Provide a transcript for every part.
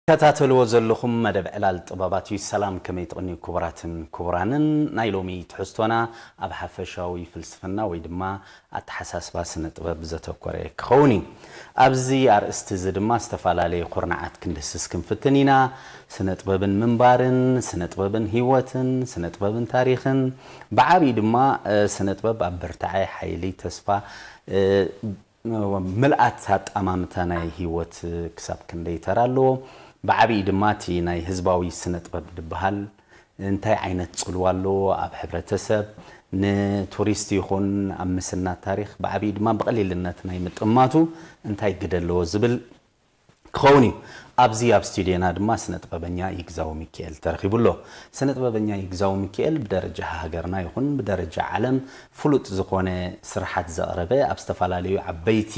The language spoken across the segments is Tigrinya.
ትከታተልዎ ዘለኹም መደብ ዕላል ጥበባት እዩ። ሰላም፣ ከመይ ትቕንዩ ክቡራትን ክቡራንን? ናይ ሎሚ ትሕዝቶና ኣብ ሓፈሻዊ ፍልስፍና ወይ ድማ ኣተሓሳስባ ስነ ጥበብ ዘተኮረ ክኸውን እዩ። ኣብዚ ኣርእስቲ እዚ ድማ ዝተፈላለየ ኩርናዓት ክንድህስስ ክንፍትን ኢና። ስነ ጥበብን ምንባርን፣ ስነ ጥበብን ህይወትን፣ ስነ ጥበብን ታሪኽን፣ ብዓብዪ ድማ ስነ ጥበብ ኣብ ብርታዐ፣ ሓይሊ፣ ተስፋ፣ ምልኣት ኣጣማምታ ናይ ህይወት ክሳብ ክንደይ ተራ ኣለዎ? ብዓብዪ ድማ እቲ ናይ ህዝባዊ ስነ ጥበብ ዝበሃል እንታይ ዓይነት ጽልዋ ኣለዎ ኣብ ሕብረተሰብ? ንቱሪስት ይኹን ኣብ ምስናድ ታሪኽ ብዓብዪ ድማ ብቐሊልነት ናይ ምጥማቱ እንታይ ግደ ኣለዎ ዝብል ክኸውን እዩ። ኣብዚ ኣብ ስቱድዮና ድማ ስነ ጥበበኛ ይግዛው ሚካኤል ተረኺቡ ኣሎ። ስነ ጥበበኛ ይግዛው ሚካኤል ብደረጃ ሃገርና ይኹን ብደረጃ ዓለም ፍሉጥ ዝኾነ ስርሓት ዘቕረበ፣ ኣብ ዝተፈላለዩ ዓበይቲ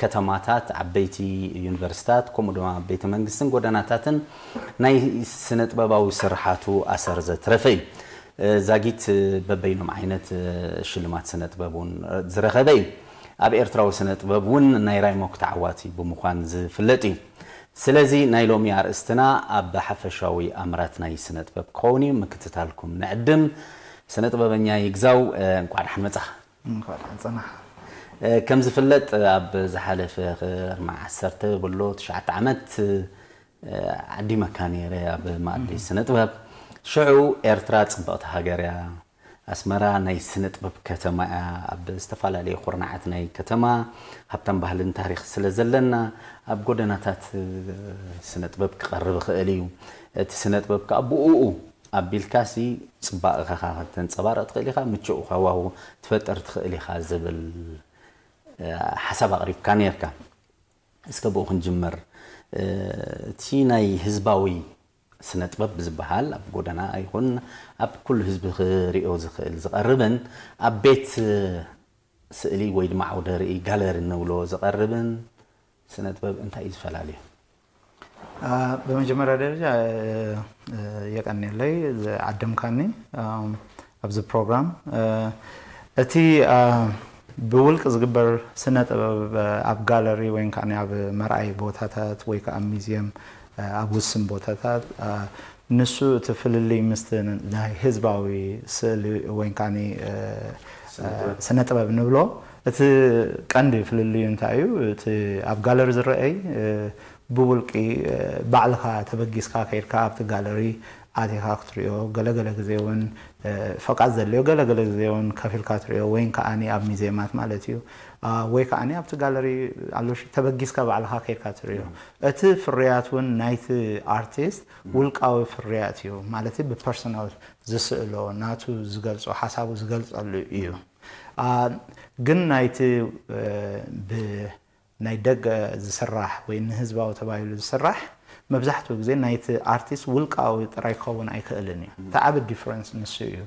ከተማታት፣ ዓበይቲ ዩኒቨርሲታት፣ ከምኡ ድማ ቤተ መንግስትን ጎደናታትን ናይ ስነ ጥበባዊ ስርሓቱ ኣሰር ዘትረፈ እዩ። ዛጊት በበይኖም ዓይነት ሽልማት ስነ ጥበብ እውን ዝረኸበ እዩ። ኣብ ኤርትራዊ ስነ ጥበብ እውን ናይ ራይሞክ ተዓዋቲ ብምዃን ዝፍለጥ እዩ። ስለዚ ናይ ሎሚ ኣርእስትና ኣብ ሓፈሻዊ ኣምራት ናይ ስነ ጥበብ ክኸውን እዩ። ምክትታልኩም ንዕድም። ስነ ጥበበኛ ይግዛው፣ እንኳዕ ደሓን መጻኻ። እንኳዕ ደሓን ጸናሕ። ከም ዝፍለጥ ኣብ ዝሓለፈ ክርማ ዓሰርተ በሎ ትሽዓተ ዓመት ዓዲመካ ነይረ ኣብ ማእዲ ስነ ጥበብ። ሽዑ ኤርትራ ጽብቕቲ ሃገር እያ፣ ኣስመራ ናይ ስነ ጥበብ ከተማ እያ፣ ኣብ ዝተፈላለየ ኩርናዓት ናይ ከተማ ሃብታም ባህልን ታሪኽ ስለ ዘለና ኣብ ጎደናታት ስነ ጥበብ ክቐርብ ይኽእል እዩ። እቲ ስነ ጥበብ ከኣ ብእኡ ኣቢልካሲ ጽባቐኻ ከተንጸባርቕ ትኽእል ኢኻ፣ ምቹእ ሃዋሁ ትፈጥር ትኽእል ኢኻ ዝብል ሓሳብ ኣቕሪብካ ነይርካ። እስከ ብኡ ክንጅምር። እቲ ናይ ህዝባዊ ስነ ጥበብ ዝበሃል ኣብ ጎደና ይኹን ኣብ ኩሉ ህዝቢ ክሪኦ ዝኽእል ዝቐርብን ኣብ ቤት ስእሊ ወይ ድማ ዓውደ ርኢ ጋለሪ ንብሎ ዝቐርብን ስነ ጥበብ እንታይ እዩ ዝፈላለዩ? ብመጀመርያ ደረጃ የቀንየለይ ዝዓደምካኒ ኣብዚ ፕሮግራም። እቲ ብውልቂ ዝግበር ስነ ጥበብ ኣብ ጋለሪ ወይ ከዓ ኣብ መርኣይ ቦታታት ወይ ከዓ ሚዚየም ኣብ ውስን ቦታታት ንሱ እቲ ፍልልይ ምስቲ ናይ ህዝባዊ ስእሊ ወይ ከዓ ስነ ጥበብ ንብሎ እቲ ቀንዲ ፍልልዩ እንታይ እዩ? እቲ ኣብ ጋለሪ ዝረአይ ብውልቂ ባዕልኻ ተበጊስካ ከይድካ ኣብቲ ጋለሪ ኣቲኻ ክትሪኦ፣ ገለገለ ግዜ እውን ፈቃድ ዘድልዮ፣ ገለገለ ግዜ እውን ከፊልካ ትሪኦ፣ ወይ ከዓኒ ኣብ ሚዜማት ማለት እዩ፣ ወይ ከዓኒ ኣብቲ ጋለሪ ኣሎ ተበጊስካ ባዕልኻ ከይድካ ትሪኦ። እቲ ፍርያት እውን ናይቲ ኣርቲስት ውልቃዊ ፍርያት እዩ፣ ማለት ብፐርሶናል ዝስእሎ ናቱ ዝገልጾ ሓሳቡ ዝገልጸሉ እዩ። ግን ናይቲ ብ ናይ ደገ ዝስራሕ ወይ ንህዝባዊ ተባሂሉ ዝስራሕ መብዛሕትኡ ግዜ ናይቲ ኣርቲስት ውልቃዊ ጥራይ ክኸውን ኣይክእልን እዩ። እቲ ዓቢ ዲፍረንስ ንሱ እዩ።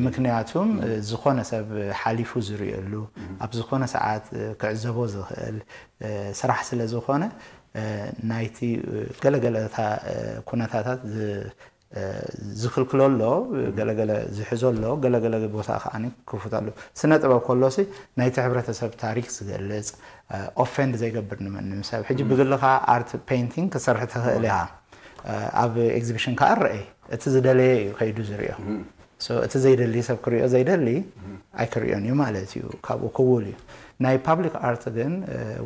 ምክንያቱም ዝኾነ ሰብ ሓሊፉ ዝርእየሉ ኣብ ዝኾነ ሰዓት ክዕዘቦ ዝኽእል ስራሕ ስለ ዝኾነ ናይቲ ገለገለ ኩነታታት ዝክልክሎ ኣሎ፣ ገለገለ ዝሕዞ ኣሎ፣ ገለገለ ቦታ ከዓ ክፉት ኣሎ። ስነ ጥበብ ከሎሲ ናይቲ ሕብረተሰብ ታሪክ ዝገልፅ ኦፌንድ ዘይገብር ንመንም ሰብ። ሕጂ ብግልኻ ኣርት ፔይንቲንግ ክሰርሕ ትኽእል ኢኻ። ኣብ ኤግዚቢሽን ከዓ ርአይ እቲ ዝደለየ እዩ ከይዱ ዝሪኦ። እቲ ዘይደሊ ሰብ ክሪኦ ዘይደሊ ኣይክሪኦን እዩ ማለት እዩ። ካብኡ ክውል እዩ። ናይ ፓብሊክ ኣርት ግን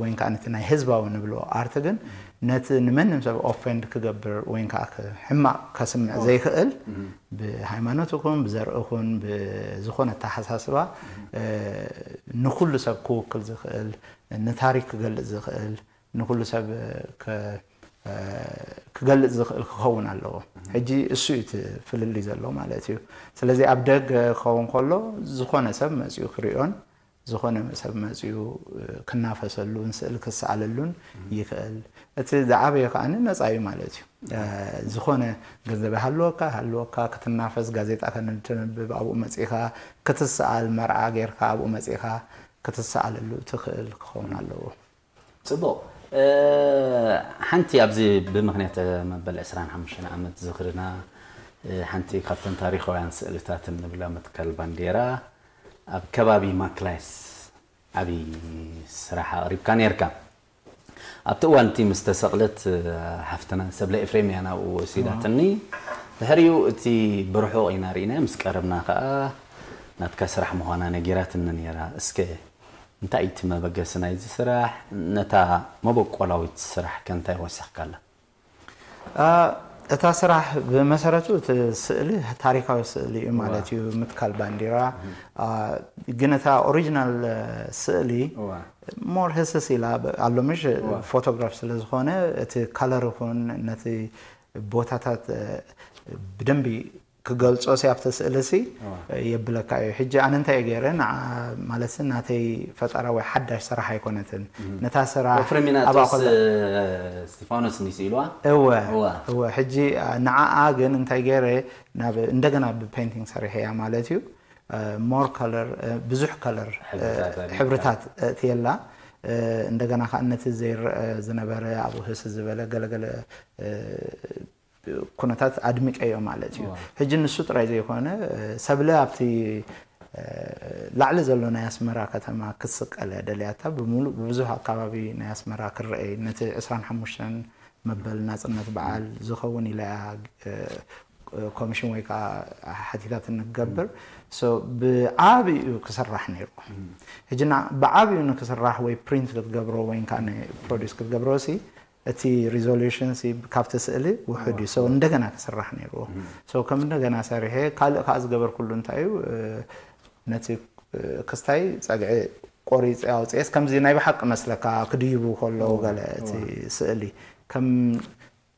ወይ ከዓ ነቲ ናይ ህዝባዊ ንብሎ ኣርት ግን ነቲ ንመንም ሰብ ኦፌንድ ክገብር ወይ ከዓ ሕማቕ ከስምዕ ዘይክእል ብሃይማኖት ይኹን ብዘር ይኹን ብዝኾነ ኣተሓሳስባ ንኩሉ ሰብ ክውክል ዝኽእል ንታሪክ ክገልፅ ዝኽእል ንኩሉ ሰብ ክገልፅ ዝኽእል ክኸውን ኣለዎ። ሕጂ እሱ እዩ እቲ ፍልልይ ዘሎ ማለት እዩ። ስለዚ ኣብ ደገ ክኸውን ከሎ ዝኾነ ሰብ መፅኡ ክሪኦን ዝኾነ ሰብ መፅኡ ክናፈሰሉን ስእሊ ክሰኣለሉን ይኽእል። እቲ ዝዓበየ ከዓ ነፃ እዩ ማለት እዩ። ዝኾነ ገንዘብ ሃልወካ ሃልወካ ክትናፈስ ጋዜጣ ከነተንብብ ኣብኡ መፂኻ ክትሰኣል መርዓ ጌርካ ኣብኡ መፂኻ ክትሰኣለሉ ትኽእል ክኸውን ኣለዎ። ፅቡቕ። ሓንቲ ኣብዚ ብምክንያት መበል ዕስራን ሓሙሽተን ዓመት ዝኽርና ሓንቲ ካብተን ታሪኻውያን ስእልታት እንብላ መትከል ባንዴራ ኣብ ከባቢ ማክላይስ ዓብዪ ስራሕ ኣቕሪብካ ነይርካ። ኣብቲ እዋን እቲ ምስ ተሰቕለት፣ ሓፍትና ሰብለ ኤፍሬም እያ ናብኡ ወሲዳትኒ። ድሕሪኡ እቲ ብርሑቕ ኢና ርኢናዮ፣ ምስ ቀረብና ከኣ ናትካ ስራሕ ምዃና ነጊራትኒ ነይራ። እስከ እንታይ እዩ እቲ መበገሲ ናይዚ ስራሕ? ነታ መበቆላዊት ስራሕ ከ እንታይ ወሰኽካላ? እታ ስራሕ ብመሰረቱ እቲ ስእሊ ታሪካዊ ስእሊ እዩ ማለት እዩ። ምትካል ባንዲራ፣ ግን እታ ኦሪጂናል ስእሊ ሞር ህስስ ኢላ ኣሎ፣ ምሽ ፎቶግራፍ ስለ ዝኾነ እቲ ከለር ይኹን ነቲ ቦታታት ብደንቢ ክገልጾ ሲ ኣብቲ ስእሊ ሲ የብለካ እዩ። ሕጂ ኣነ እንታይ እየ ገይረ፣ ንዓ ማለት ናተይ ፈጠራ ወይ ሓዳሽ ስራሕ ኣይኮነትን። ነታ ስራሕ ፍሬሚናጦስ እስጢፋኖስ እንዲስ ኢልዋ። እወ እወ። ሕጂ ንዓኣ ግን እንታይ ገይረ፣ ናብ እንደገና ብፔንቲንግ ሰሪሐያ ማለት እዩ። ሞር ከለር፣ ብዙሕ ከለር ሕብርታት ኣእትየላ። እንደገና ከዓ ነቲ ዘይረአ ዝነበረ ኣብኡ ህስ ዝበለ ገለገለ ኩነታት ኣድሚቀዮ ማለት እዩ። ሕጂ ንሱ ጥራይ ዘይኮነ፣ ሰብለ ኣብቲ ላዕሊ ዘሎ ናይ ኣስመራ ከተማ ክትስቀል እያ ደልያታ። ብምሉእ ብብዙሕ ኣካባቢ ናይ ኣስመራ ክረአይ፣ ነቲ ዕስራን ሓሙሽተን መበል ናጽነት በዓል ዝኸውን ኢላ እያ ኮሚሽን ወይ ከዓ ሓቲታትኒ ክገብር። ብዓብዩ ክስራሕ ነይሩ። ሕጂ ብዓብዩ ንክስራሕ ወይ ፕሪንት ክትገብሮ ወይ ከዓ ፕሮዲስ ክትገብሮ ሲ እቲ ሪዞሉሽን ሲ ካብቲ ስእሊ ውሑድ እዩ። እንደገና ክስራሕ ነይርዎ። ከም እንደገና ሰሪሐ ካልእ ከዓ ዝገበርኩሉ እንታይ እዩ፣ ነቲ ክስታይ ጸግዒ ቆሪፀ ኣውፅኤስ ከምዚ ናይ ብሓቂ መስለካ ክድይቡ ከለዉ ገለ እቲ ስእሊ ከም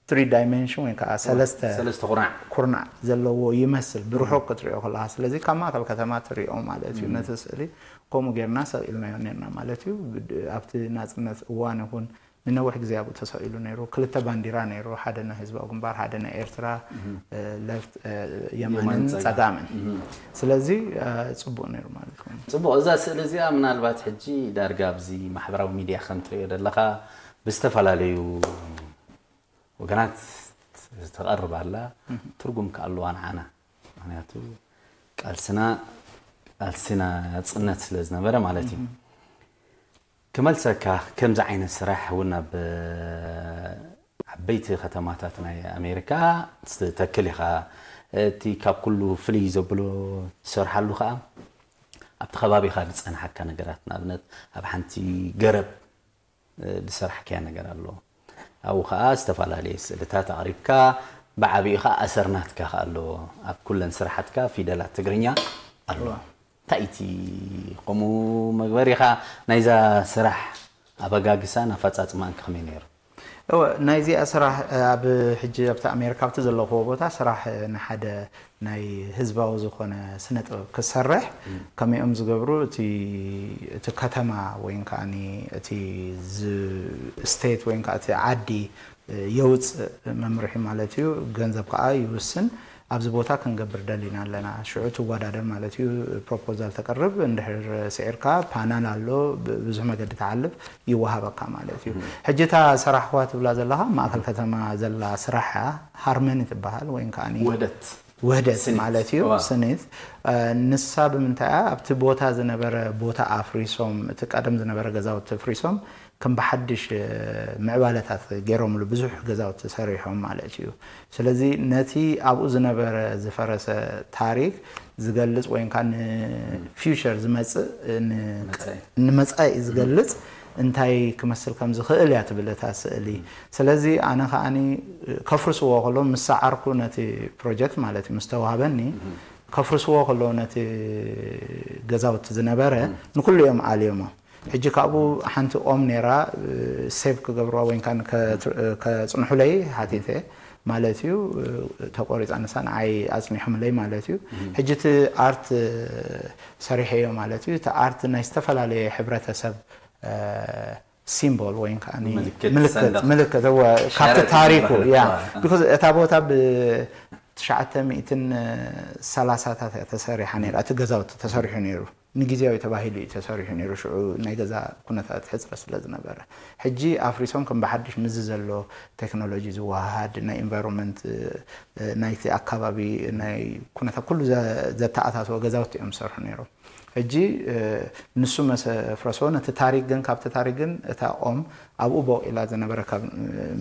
ትሪ ዳይሜንሽን ወይ ከዓ ሰለስተ ሰለስተ ኩርናዕ ኩርናዕ ዘለዎ ይመስል ብርሑቅ ክትሪኦ ከለካ። ስለዚ ካብ ማእከል ከተማ ትሪኦ ማለት እዩ። ነቲ ስእሊ ከምኡ ጌርና ሰቂልናዮ ኔርና ማለት እዩ። ኣብቲ ናፅነት እዋን ይኹን ንነዊሕ ግዜ ኣብኡ ተሰቂሉ ነይሩ። ክልተ ባንዲራ ነይሩ፣ ሓደ ናይ ህዝባዊ ግንባር፣ ሓደ ናይ ኤርትራ፣ ለፍት የማንን ጸጋምን። ስለዚ ጽቡቅ ነይሩ ማለት እዩ። ጽቡቅ፣ እዛ ስእሊ እዚኣ ምናልባት ሕጂ ዳርጋ ኣብዚ ማሕበራዊ ሚድያ ከም ትሪኦ ዘለኻ ብዝተፈላለዩ ወገናት ትቐርብ ኣላ። ትርጉም ከ ኣለዋ ንዓና? ምክንያቱ ቃልስና ቃልሲ ናጽነት ስለ ዝነበረ ማለት እዩ። ክመልሰካ፣ ከምዚ ዓይነት ስራሕ እውን ኣብ ዓበይቲ ከተማታት ናይ ኣሜሪካ ትተክል ኢኻ። እቲ ካብ ኩሉ ፍልይ ዘብሎ ትሰርሓሉ ከዓ ኣብቲ ከባቢኻ ዝፀንሓካ ነገራት፣ ንኣብነት ኣብ ሓንቲ ገረብ ዝሰራሕካያ ነገር ኣሎ። ኣብኡ ከዓ ዝተፈላለየ ስእልታት ኣቕሪብካ፣ ብዓብኡ ከዓ ኣሰር ናትካ ከዓ ኣለዎ። ኣብ ኩለን ስራሓትካ ፊደላት ትግርኛ ኣሎ። እንታይ እቲ ከምኡ መግበሪኻ ናይዛ ስራሕ ኣበጋግሳን ኣፈፃፅማን ከመይ ነይሩ? እወ፣ ናይዚኣ ስራሕ ኣብ ሕጂ ኣብቲ ኣሜሪካ ኣብቲ ዘለኽዎ ቦታ ስራሕ ንሓደ ናይ ህዝባዊ ዝኾነ ስነ ጥበብ ክሰርሕ ከመይኦም ዝገብሩ እቲ እቲ ከተማ ወይ ከዓ እቲ ስቴት ወይ ከዓ እቲ ዓዲ የውፅእ መምርሒ ማለት እዩ። ገንዘብ ከዓ ይውስን። ኣብዚ ቦታ ክንገብር ደሊና ኣለና። ሽዑ ትወዳደር ማለት እዩ። ፕሮፖዛል ተቅርብ፣ እንድሕር ስዒርካ ፓናል ኣሎ፣ ብዙሕ መገዲ ተሓልፍ ይወሃበካ ማለት እዩ። ሕጂ እታ ሰራሕኽዋ ትብላ ዘለኻ ማእከል ከተማ ዘላ ስራሕ እያ። ሃርመኒ ትበሃል ወይ ከዓ ውህደት ውህደት ማለት እዩ። ስኒት ንሳ ብምንታይ እያ ኣብቲ ቦታ ዝነበረ ቦታ ኣፍሪሶም፣ እቲ ቀደም ዝነበረ ገዛውቲ ኣፍሪሶም ከም ብሓድሽ ምዕባለታት ገይሮምሉ ብዙሕ ገዛውቲ ሰሪሖም ማለት እዩ። ስለዚ ነቲ ኣብኡ ዝነበረ ዝፈረሰ ታሪክ ዝገልጽ ወይ ከዓ ንፊውቸር ዝመጽእ ንመጻኢ ዝገልጽ እንታይ ክመስል ከም ዝኽእል እያ ትብል እታ ስእሊ። ስለዚ ኣነ ከዓኒ ከፍርስዎ ከሎ ምስ ሰዓርኩ ነቲ ፕሮጀክት ማለት እዩ ምስ ተዋህበኒ ከፍርስዎ ከሎ ነቲ ገዛውቲ ዝነበረ ንኩሉ እዮም ኣልዮሞ። ሕጂ ካብኡ ሓንቲ ኦም ነይራ ሴቭ ክገብርዋ ወይ ከጽንሑለይ ሓቲተ ማለት እዩ። ተቆሪፃ ንሳ ንዓይ ኣፅኒሖምለይ ማለት እዩ። ሕጂ እቲ ኣርት ሰሪሐዮ ማለት እዩ። እቲ ኣርት ናይ ዝተፈላለየ ሕብረተሰብ ሲምቦል ወይ ከዓ ምልክት እወ ካብቲ ታሪኩ ያ ቢኮዝ እታ ቦታ ብ ትሽዓተ ሚእትን ሰላሳታት እያ ተሰሪሓ ነይራ። እቲ ገዛውቲ ተሰሪሑ ነይሩ። ንግዜያዊ ተባሂሉ እዩ ተሰሪሑ ነይሩ። ሽዑ ናይ ገዛ ኩነታት ሕፅረት ስለ ዝነበረ፣ ሕጂ ኣፍሪሶም ከም ብሓድሽ ምስዚ ዘሎ ቴክኖሎጂ ዝወሃሃድ ናይ ኢንቫይሮንመንት ናይቲ ኣካባቢ ናይ ኩነታት ኩሉ ዘተኣታተወ ገዛውቲ እዮም ዝሰርሑ ነይሮም። ሕጂ ንሱ መሰ ፍረሶ ነቲ ታሪክ ግን ካብቲ ታሪክ ግን እታ ኦም ኣብኡ ቦቂላ ዝነበረ ካብ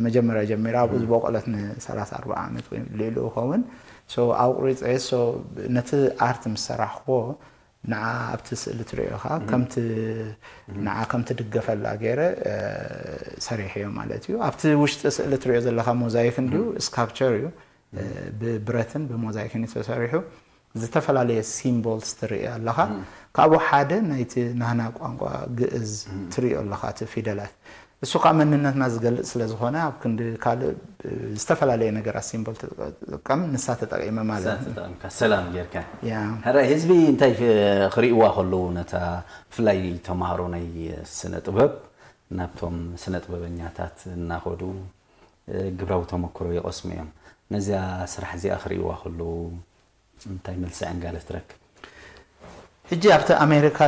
መጀመርያ ጀሚራ ኣብኡ ዝበቆለት ን30 40 ዓመት ወይ ልዕሊኡ ኸውን ኣቁሪፀ ነቲ ኣርት ምስ ሰራሕክዎ ንዓ ኣብቲ ስእሊ ትሪኦ ኢኻ ከምቲ ንዓ ከምቲ ድገፈላ ገይረ ሰሪሐዮ ማለት እዩ። ኣብቲ ውሽጢ ስእሊ ትሪኦ ዘለኻ ሞዛይክ እንዲዩ ስካፕቸር እዩ። ብብረትን ብሞዛይክን እዩ ተሰሪሑ። ዝተፈላለየ ሲምቦልስ ትርኢ ኣለኻ። ካብኡ ሓደ ናይቲ ናህና ቋንቋ ግእዝ ትሪኦ ኣለኻ እቲ ፊደላት። እሱ ከዓ መንነትና ዝገልጽ ስለ ዝኾነ ኣብ ክንዲ ካልእ ዝተፈላለየ ነገራት ሲምቦል ትጥቀም ንሳ ተጠቂመ ማለት እዩ። ሰላም ጌርካ ሕራይ ህዝቢ እንታይ ክርእይዋ ከለዉ ነታ ብፍላይ ተምሃሮ ናይ ስነ ጥበብ ናብቶም ስነ ጥበበኛታት እናኸዱ ግብራዊ ተመክሮ ይቐስሙ እዮም። ነዚኣ ስራሕ እዚኣ ክርእይዋ ከለዉ እንታይ መልሲ ዕንጋለ ትረክብ? ሕጂ ኣብቲ ኣሜሪካ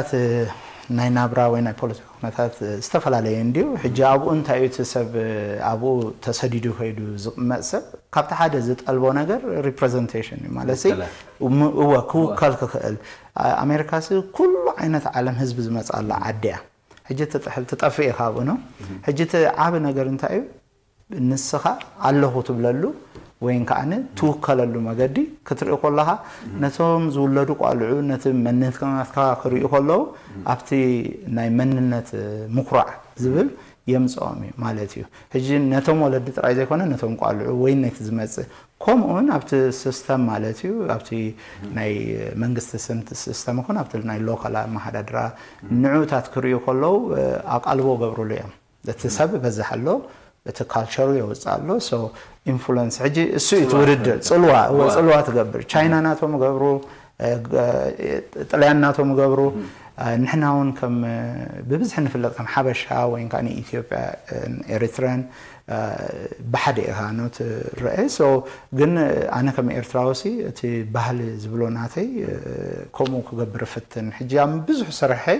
ናይ ናብራ ወይ ናይ ፖለቲካ ኩነታት ዝተፈላለየ እንድዩ። ሕጂ ኣብኡ እንታይ እዩ እቲ ሰብ ኣብኡ ተሰዲዱ ከይዱ ዝቕመጥ ሰብ ካብቲ ሓደ ዝጠልቦ ነገር ሪፕሬዘንቴሽን እዩ ማለት እወ ክውከል ክኽእል ኣሜሪካ ኩሉ ዓይነት ዓለም ህዝቢ ዝመፅኣላ ዓዲ እያ። ሕጂ ትጠፍእ ኢኻ ኣብኡ ነው። ሕጂ እቲ ዓቢ ነገር እንታይ እዩ? ንስኻ ኣለኹ ትብለሉ ወይን ከዓኒ ትውከለሉ መገዲ ክትርኢ ከለኻ ነቶም ዝውለዱ ቋልዑ ነቲ መንነትካ ክርእዩ ከለዉ ኣብቲ ናይ መንነት ምኩራዕ ዝብል የምፅኦም እዩ ማለት እዩ። ሕጂ ነቶም ወለዲ ጥራይ ዘይኮነ ነቶም ቋልዑ ወይ ነቲ ዝመፅእ ከምኡውን ኣብቲ ሲስተም ማለት እዩ ኣብቲ ናይ መንግስቲ ስስተም ይኹን ኣብቲ ናይ ሎካል ኣመሓዳድራ ንዑታት ክርእዩ ከለዉ ኣቃልቦ ገብሩሉ እዮም። እቲ ሰብ በዝሕ ኣሎ እቲ ካልቸሩ የውፅእ ኣሎ ኢንፍሉንስ ሕጂ እሱ እዩ ትውድድር ፅልዋ እወ ፅልዋ ትገብር ቻይና ናቶም ገብሩ ጥልያን ናቶም ገብሩ ንሕና እውን ከም ብብዝሒ ንፍለጥ ከም ሓበሻ ወይ ከዓ ንኢትዮጵያ ኤሪትራን ብሓደ ኢኻ ኖት ረአ ግን ኣነ ከም ኤርትራዊ ሲ እቲ ባህሊ ዝብሎ ናተይ ከምኡ ክገብር ፍትን ሕጂ ኣብ ብዙሕ ስርሐይ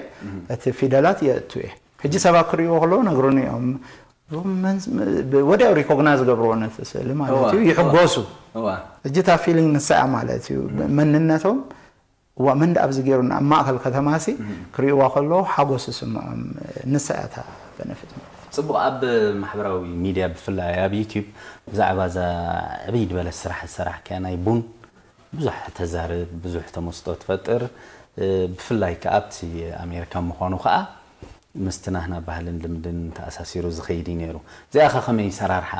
እቲ ፊደላት የእቱ እየ ሕጂ ሰባት ክርእይዎ ከለዉ ነግሩኒ እዮም ወዲያው ሪኮግናይዝ ዝገብርዎ ነቲ ስእሊ ማለት እዩ ይሕጎሱ ሕጂ እታ ፊሊንግ ንሳ እያ ማለት እዩ መንነቶም እዋ መን ደኣ ኣብዚ ገይሩና ኣብ ማእከል ከተማ ሲ ክርእይዋ ከለዉ ሓጎስ ይስምዖም ንሳ እያ እታ በነፊት ማለት ጽቡቕ ኣብ ማሕበራዊ ሚድያ ብፍላይ ኣብ ዩቲዩብ ብዛዕባ እዛ ዕብይ ዝበለት ስራሕ ዝሰራሕካያ ናይ ቡን ብዙሕ ተዛርብ ብዙሕ ተመስጦ ትፈጥር ብፍላይ ከኣ ኣብቲ ኣሜሪካ ምዃኑ ከኣ ምስቲ ናህና ባህልን ልምድን ተኣሳሲሩ ዝኸይድ እዩ ነይሩ። እዚኣ ኸ ከመይ ሰራርሓ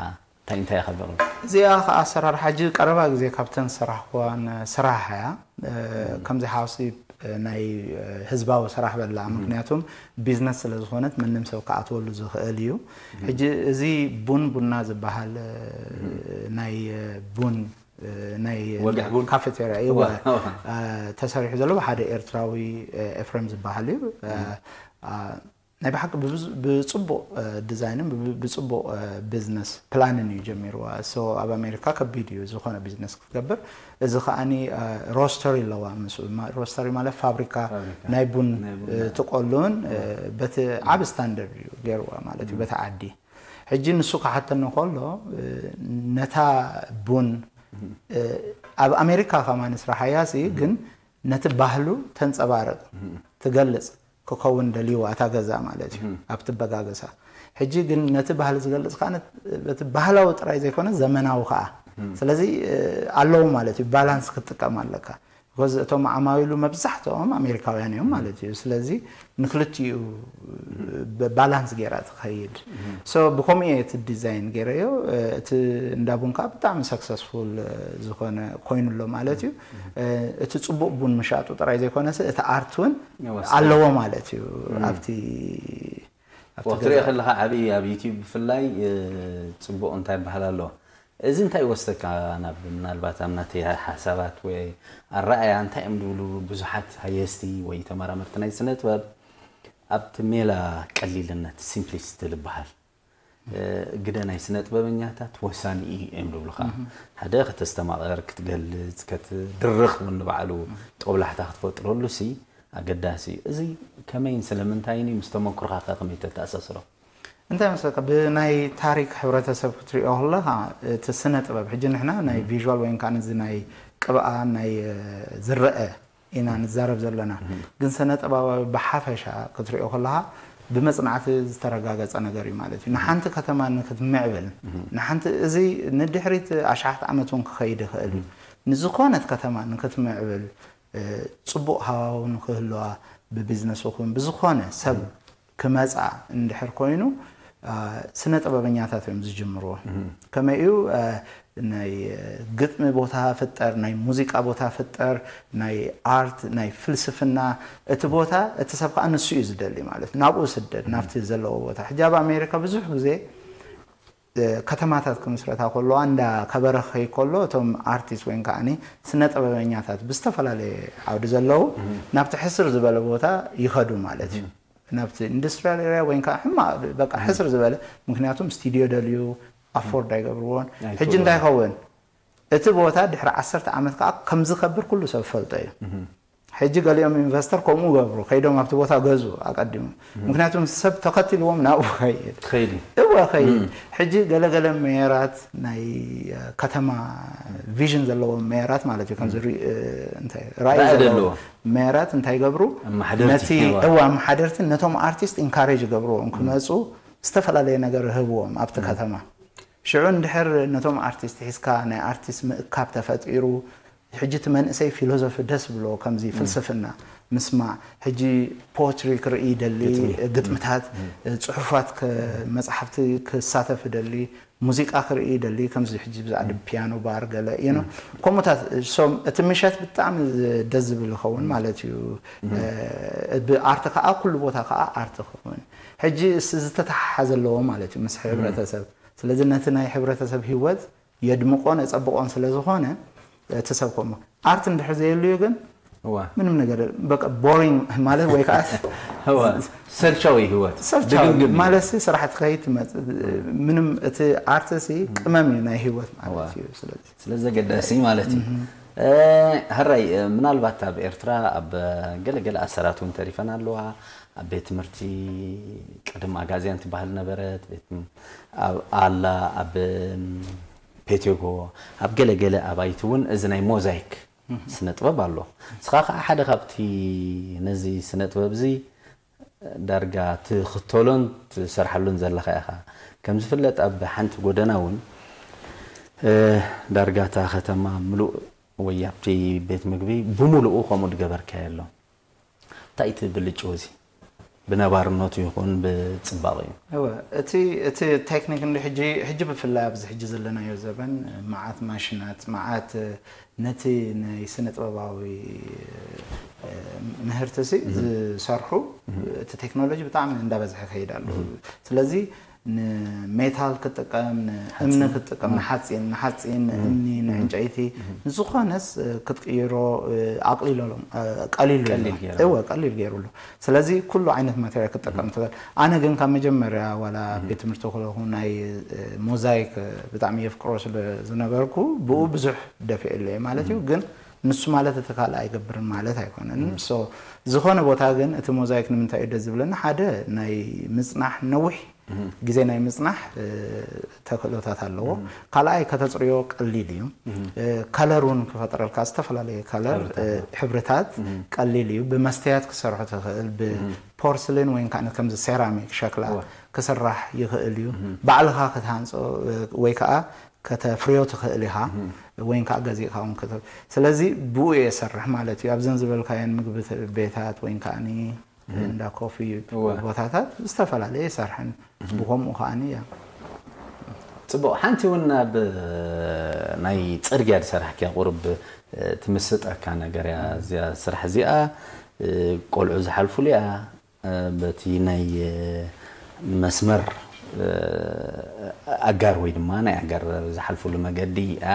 እንታይ እንታይ ኢኻ ዘቕርብ? እዚኣ ኸኣ ኣሰራርሓ ሕጂ ቀረባ ግዜ ካብተን ዝሰራሕክዋን ስራሕ እያ። ከምዚ ሓውሲ ናይ ህዝባዊ ስራሕ በላ ምክንያቱም ቢዝነስ ስለ ዝኾነት መንም ሰብ ክኣትወሉ ዝኽእል እዩ። ሕጂ እዚ ቡን ቡና ዝበሃል ናይ ቡን ናይ ወግሕ ቡን። ካፌቴርያ እወ፣ እወ። ተሰሪሑ ዘሎ ብሓደ ኤርትራዊ ኤፍሬም ዝበሃል እዩ። ናይ ብሓቂ ብብዙ- ብፅቡቕ ዲዛይንን ብብ- ብፅቡቕ ቢዝነስ ፕላንን እዩ ጀሚርዋ። So ኣብ ኣሜሪካ ከቢድ እዩ ዝኾነ ቢዝነስ ክትገብር። እዚ ከዓኒ ሮስተሪ ኣለዋ ምስ ማ- ሮስተሪ ማለት ፋብሪካ ፋብሪካ። ናይ ቡን ናይ ቡን። ትቆሉን በቲ ዓብ ስታንደርድ እዩ ገይርዋ ማለት እዩ በቲ ዓዲ ሕጂ ንሱ ክሓተኒ ከሎ ነታ ቡን ኣብ ኣሜሪካ ከማን ስራሓያ ሲ ግን ነቲ ባህሉ ተንፀባርቕ ትገልፅ ክኸውን ደልይዋ እታ ገዛ ማለት እዩ ኣብቲ በጋገሳ ሕጂ ግን ነቲ ባህሊ ዝገልፅ ከዓ በቲ ባህላዊ ጥራይ ዘይኮነ ዘመናዊ ከዓ ስለዚ ኣለዉ ማለት እዩ ባላንስ ክትጥቀም ኣለካ because እቶም ዓማዊሉ መብዛሕትኦም ኣሜሪካውያን እዮም ማለት እዩ ስለዚ ንክልቲኡ ባላንስ ገይራ ትኸይድ so ብከምኡ እየ እቲ ዲዛይን ገይረዮ እቲ እንዳ ቡን ከዓ ብጣዕሚ ሰክሰስፉል ዝኾነ ኮይኑ ኣሎ ማለት እዩ እቲ ፅቡቅ ቡን ምሻጡ ጥራይ ዘይኮነስ እቲ ኣርት እውን ኣለዎ ማለት እዩ ኣብቲ ኣብቲ ወቅቲ ሪኦ ገዛ። ከለካ ዓብይ ኣብ ዩቲዩብ ብፍላይ እ፣ ፅቡቅ እንታይ ይበሃል ኣሎ እዚ እንታይ ይወስደካ ናብ ምናልባት ኣብ ናተይ ሓሳባት ወይ ኣረኣያ እንታይ እዮም ዝብሉ ብዙሓት ሃየስቲ ወይ ተመራመርቲ ናይ ስነ ጥበብ ኣብቲ ሜላ ቀሊልነት ሲምፕሊስቲ ዝበሃል እ፣ ግደ ናይ ስነ ጥበበኛታት ወሳኒ እዩ እዮም ዝብሉካ ሓደ ከተስተማቐር ክትገልፅ ከትድርኽ እውን ንባዕሉ ጦብላሕታ ክትፈጥረሉ ሲ ኣገዳሲ እዩ። እዚ ከመይን ስለምንታይን እዩ? ምስ ተመክሮኻ ከ ከመይ ተተኣሳስሮ? እንታይ መስለካ፣ ብናይ ታሪክ ሕብረተሰብ ክትሪኦ ከለኻ፣ እቲ ስነ ጥበብ፣ ሕጂ ንሕና ናይ ቪዥዋል ወይም ከዓ ነዚ ናይ ቅብኣ ናይ ዝረአ ኢና ንዛረብ ዘለና። ግን ስነ ጥበባዊ ብሓፈሻ ክትሪኦ ከለኻ ብመጽናዕቲ ዝተረጋገጸ ነገር እዩ ማለት እዩ። ንሓንቲ ከተማ ንክትምዕብል፣ ንሓንቲ፣ እዚ ንድሕሪት ኣሽሓት ዓመት እውን ክኸይድ ይኽእል እዩ። ንዝኾነት ከተማ ንክትምዕብል፣ እ፣ ጽቡቕ ሃዋው ንክህልዋ፣ ብቢዝነስ ይኹን ብዝኾነ ሰብ ክመጻ እንድሕር ኮይኑ፣ እ፣ ስነ ጥበበኛታት እዮም ዝጅምርዎ። ከመይ እዩ፣ እ፣ ናይ ግጥሚ ቦታ ፍጠር፣ ናይ ሙዚቃ ቦታ ፍጠር፣ ናይ ኣርት፣ ናይ ፍልስፍና፣ እቲ ቦታ፣ እቲ ሰብ ከዓ ንሱ እዩ ዝደሊ ማለት እዩ። ናብኡ ስደድ፣ ናብቲ ዘለዎ ቦታ። ሕጂ ኣብ ኣሜሪካ ብዙሕ ግዜ፣ እ፣ ከተማታት ክምስረታ ከለዋ፣ እንዳ ከበረ ክኸይ ከሎ፣ እቶም ኣርቲስት ወይ ከዓኒ ስነ ጥበበኛታት ብዝተፈላለየ ዓውዲ ዘለዉ ናብቲ ሕስር ዝበለ ቦታ ይኸዱ ማለት እዩ። ናብቲ ኢንዱስትሪያል ኤሪያ ወይ ከዓ ሕማቕ፣ በቃ፣ ሕስር ዝበለ፣ ምክንያቱም ስቱዲዮ ደልዩ ኣፎርድ ኣይገብርዎን። ሕጂ እንታይ ይኸውን? እቲ ቦታ ድሕሪ ዓሰርተ ዓመት ከዓ ከም ዝከብር ኩሉ ሰብ ፈልጦ እዩ። ሕጂ ገሊኦም ኢንቨስተር ከምኡ ገብሩ፣ ከይዶም ኣብቲ ቦታ ገዙ ኣቀዲሙ። ምክንያቱም ሰብ ተኸቲልዎም ናብኡ ኸይድ። ኸይድ እዩ። እወ፣ ኸይድ። ሕጂ ገለገለ ሜየራት፣ ናይ፣ እ፣ ከተማ ቪዥን ዘለዎም ሜየራት ማለት እዩ፣ ከምዚ ሪ-፣ እ፣ እንታይ፣ ራእይ ራእይ ዘለዎም ዘለዎ። ሜየራት እንታይ ይገብሩ? ኣመሓደርቲ ነቲ፣ ነባ። እወ፣ ኣመሓደርቲ ነቶም ኣርቲስት ኢንካሬጅ ይገብርዎም ክመፁ፣ ዝተፈላለየ ነገር ይህብዎም ኣብቲ ከተማ። ሽዑ እንድሕር ነቶም ኣርቲስት ሒዝካ ናይ ኣርቲስት ምእካብ ተፈጢሩ፣ ሕጂ እቲ መንእሰይ ፊሎዞፊ ደስ ብሎ፣ ከምዚ ፍልስፍና ምስማዕ፣ ሕጂ ፖትሪ ክርኢ ይደሊ፣ ግጥምታት፣ ጽሑፋት ከ-፣ መጽሓፍቲ ክሳተፍ ይደሊ፣ ሙዚቃ ክርኢ ይደሊ፣ ከምዚ ሕጂ ብዛዕባ ፒያኖ ባር ገለ፣ you know፣ ከምኡታት። ሶም እቲ ምሸት ብጣዕሚ ደስ ዝብል ይኸውን ማለት እዩ። እ፣ ብኣርቲ ከዓ ኩሉ ቦታ ከዓ ኣርቲ ክኸውን። ሕጂ እስ-፣ ዝተተሓሓዘ ኣለዎ ማለት እዩ ምስ ሕብረተሰብ። ስለዚ ነቲ ናይ ሕብረተሰብ ህይወት የድምቆን የጸብቆን ስለ ዝኾነ፣ እቲ ሰብ ከምኡ ኣርት እንድሕር ዘየልዩ ግን እዋ። ምንም ነገር የለን። በቃ ቦሪንግ ማለት ወይ ከዓ እዋ። ሰልቻዊ ህይወት። ሰልቻዊ ድግምግም እዩ። ማለት ሲ፣ ስራሕ ትኸይድ ትመጽእ፣ ምንም፣ እቲ ኣርት ሲ ቅመም እዩ ናይ ህይወት ማለት እዋ። እዩ። ስለዚ ስለዚ ኣገዳሲ ማለት እዩ። እ፣ ሕራይ፣ እ፣ ምናልባት ኣብ ኤርትራ ኣብ ገለገለ ኣሰራት እውን ተሪፈን ኣለዋ። ኣብ ቤት ትምህርቲ ቅድም ኣጋዝያን ትበሃል ነበረት፣ ቤት ም-፣ ኣብ ኣላ፣ ኣብ፣ ም፣ ፔቴጎ፣ ኣብ ገለገለ ኣባይቲ እውን እዚ ናይ ሞዛይክ ስነ ጥበብ ኣሎ። ንስኻ ከዓ ሓደ ካብቲ ነዚ ስነ ጥበብ እዚ ዳርጋ ትኽተሎን ትሰርሓሉን ዘለኻ ኢኻ። ከም ዝፍለጥ ኣብ ሓንቲ ጎደና እውን፣ እ፣ ዳርጋ እታ ከተማ ምሉእ ወይ ኣብቲ ቤት ምግቢ ብምሉኡ ከምኡ ዝገበርካዮ ኣሎ። እንታይ እቲ ብልጭው እዚ? ብነባርነቱ ይኹን ብጽባቐኡ? እወ፣ እቲ፣ እቲ ቴክኒክ እንዲ ሕጂ፣ ሕጂ ብፍላይ ኣብዚ ሕጂ ዘለናዮ ዘበን መዓት ማሽናት፣ መዓት ነቲ ናይ ስነ ጥበባዊ፣ እ፣ ምህርቲ ሲ ዝሰርሑ፣ እቲ ቴክኖሎጂ ብጣዕሚ እንዳበዝሐ ይኸይድ ኣሎ። ስለዚ ንሜታል ክትጥቀም፣ ንእምኒ ክትጥቀም፣ ንሓፂን፣ ንሓፂን፣ ንእምኒ፣ ንዕንጨይቲ፣ ንዝኾነስ፣ እ፣ ክትቅይሮ፣ እ፣ ኣቕሊሎሎም፣ እ፣ ቀሊሉ ኣሎ። ቀሊል ገይሩ። እወ፣ ቀሊል ገይሩ ኣሎ። ስለዚ ኩሉ ዓይነት ማቴሪያል ክትጥቀም ትኽእል። ኣነ ግን ካብ መጀመርያ ዋላ ቤት ትምህርቲ ከለኹ ናይ፣ እ፣ ሞዛይክ፣ እ፣ ብጣዕሚ የፍቅሮ ስለ ዝነበርኩ ብኡ ብዙሕ ደፊኤለየ ማለት እዩ። ግን ንሱ ማለት እቲ ካልእ ኣይገብርን ማለት ኣይኮነን። ሶ ዝኾነ ቦታ ግን እቲ ሞዛይክ ንምንታይ እዩ ደስ ዝብለኒ? ሓደ ናይ ምጽናሕ ነዊሕ ግዜ ናይ ምጽናሕ፣ እ፣ ተኽእሎታት ኣለዎ። ካልኣይ ከተጽርዮ ቀሊል እዩ። እ፣ ከለር እውን ክፈጥረልካ ዝተፈላለየ ከለር፣ እ፣ ሕብርታት ቀሊል እዩ። ብመስተያት ክሰርሖ ትኽእል፣ ብፖርስሊን ወይ ከዓ ከምዚ ሴራሚክ ሸክላ ክስራሕ ይኽእል እዩ። ባዕልኻ ክትሃንጾ፣ እ፣ ወይ ከዓ ከተፍርዮ ትኽእል ኢኻ፣ ወይ ከዓ ገዚእካ እውን ክተ-፣ ስለዚ ብኡ እየ እሰርሕ ማለት እዩ። ኣብዘን ዝበልካየን ምግቢ ቤታት ወይ ከዓ እንዳ ኮፊ ቦታታት ዝተፈላለየ ይሰርሕን ብኸምኡ ከዓኒ እያ። ጽቡቕ። ሓንቲ እውን ኣብ ናይ ጽርግያ ዝሰራሕክያ ቁሩብ፣ እ፣ ትምስጠካ ነገር እያ እዚኣ ስራሕ እዚኣ። እ፣ ቆልዑ ዝሓልፉሉ እያ፣ እ፣ በቲ ናይ፣ እ፣ መስመር፣ እ፣ ኣጋር ወይ ድማ ናይ ኣጋር ዝሓልፉሉ መገዲ እያ።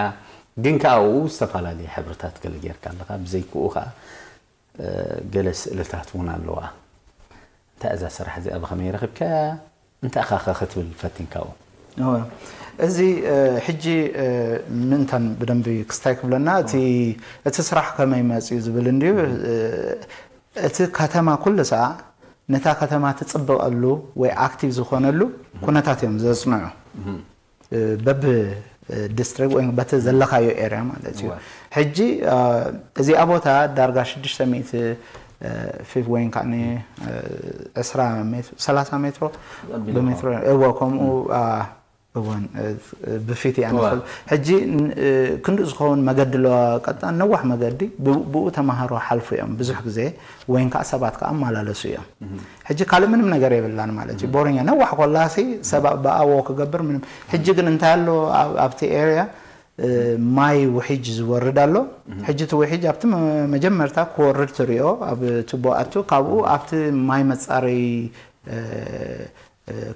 ግን ከኣ ኣብኡ ዝተፈላለየ ሕብርታት ገለ ጌርካ ኣለኻ። ብዘይክኡ ከኣ እ፣ ገለ ስእልታት እውን ኣለዋ። እንታይ እዛ ስራሕ እዚኣ ብኸመይ ረኺብካያ? እንታይ ኢኻ ኸ ክትብል ፈቲንካ ኣብኡ? እወ። እዚ፣ እ፣ ሕጂ፣ እ፣ ምእንታን ብደንቢ ክስታይ ክብለና፣ እቲ፣ እቲ ስራሕ ከመይ መጽዩ ዝብል እንድዩ፣ እ፣ እቲ ከተማ ኩሉ ሰዓ ነታ ከተማ ትፅብቐሉ ወይ ኣክቲቭ ዝኾነሉ ኩነታት እዮም ዘፅንዑ። በብ ዲስትሪክት ወይ በቲ ዘለኻዮ ኤርያ ማለት እዩ። ሕጂ እዚኣ ቦታ ዳርጋ ሽዱሽተ ሚእቲ ፊት ወይ ከዓ ዕስራ ሜትሮ፣ ሰላሳ ሜትሮ ብሜትሮ እዎ ከምኡ እወን ብፊት እያ ንኽእል። ሕጂ ክንድኡ ዝኸውን መገዲ ኣለዋ፣ ቀጣን ነዋሕ መገዲ ብኡ ተምሃሮ ሓልፉ እዮም ብዙሕ ግዜ ወይን ከዓ ሰባት ከዓ ኣመላለሱ እዮም። ሕጂ ካልእ ምንም ነገር የብላን ማለት እዩ። ቦረኛ ነዋሕ ኮላሲ ሰብ ብኣዎ ክገብር ምንም። ሕጂ ግን እንታይ ኣሎ ኣብቲ ኤርያ ማይ ውሒጅ ዝወርድ ኣሎ። ሕጂ እቲ ውሒጅ ኣብቲ መጀመርታ ክወርድ ትሪኦ ኣብ ቱቦ ኣቱ ካብኡ ኣብቲ ማይ መፃረይ